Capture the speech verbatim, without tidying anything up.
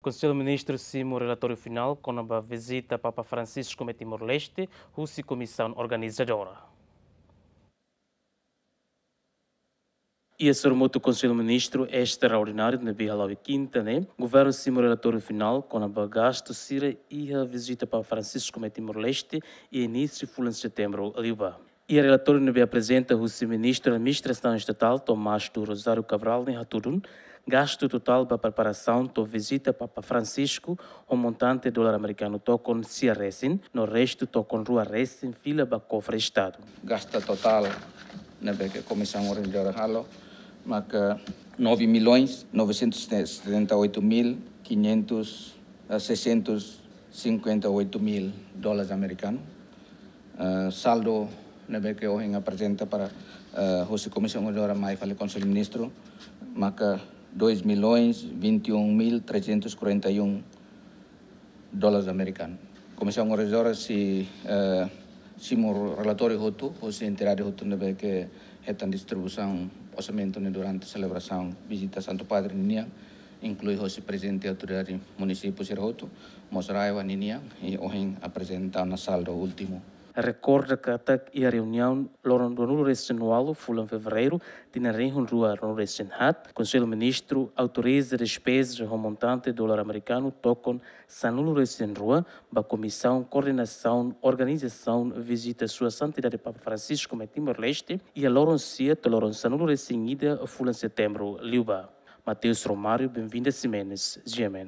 Konsellu Ministru simu relatóriu finál kona-ba vizita Papa Francisco mai Timor-Leste husi komisaun organizadora. Iha sorumutu Konsellu Ministru estraordináriu ne'ebé hala'o iha kinta ne'e, governu simu relatóriu finál kona-ba gastu sira iha vizita Papa Francisco mai Timor-Leste iha inísiu fulan setembru liubá. Iha relatóriu ne'ebé aprezenta husi Ministru Administrasaun Estatál Tomás do Rosário Cabral ne'e hatudun, gastu totál ba preparasaun to'o vizita Papa Francisco ho montante dolar amerikanu tokon sia resin, no restu tokon rua resin fila ba kofre Estadu. Gastu totál ne'ebé ke komisaun organizadora halo maka nove milhões novecentos e setenta e oito mil quinhentos, eh, seiscentos cinquenta e oito mil dólares americanos. Eh, saldo ne'ebé ke ohin aprezenta para, eh, husi komisaun organizadora mai fali Konsellu Ministru maka dois milhões vinte e um mil trezentos quarenta e um dólares americanos. Komisaun organizadora sei, eh, simu relatóriu hotu husi entidade hotu ne'ebé ke hetan distribuisaun orsamentu ne'e durante selebrasaun vizita Santu Padre ninian, inklui husi prezidente autoridade munisípiu sira hotu, mós RAEOA ninian, i ohin aprezenta ona saldo últimu. Rekorda katak iha reuniaun loron ruanulu resin ualu fulan Fevereiru tinan rihun rua ruanulu resin haat, Konsellu Ministru autoriza despeza ho montante dolar amerikanu tokon sanulu resin rua ba Komisaun Koordenasaun Organizasaun Vizita Sua Santidade Papa Francisco mai Timor-Leste iha loron sia to'o loron sanulu resin ida fulan Setembru liubá. Mateus Romário, Benvinda Ximenes, G M N.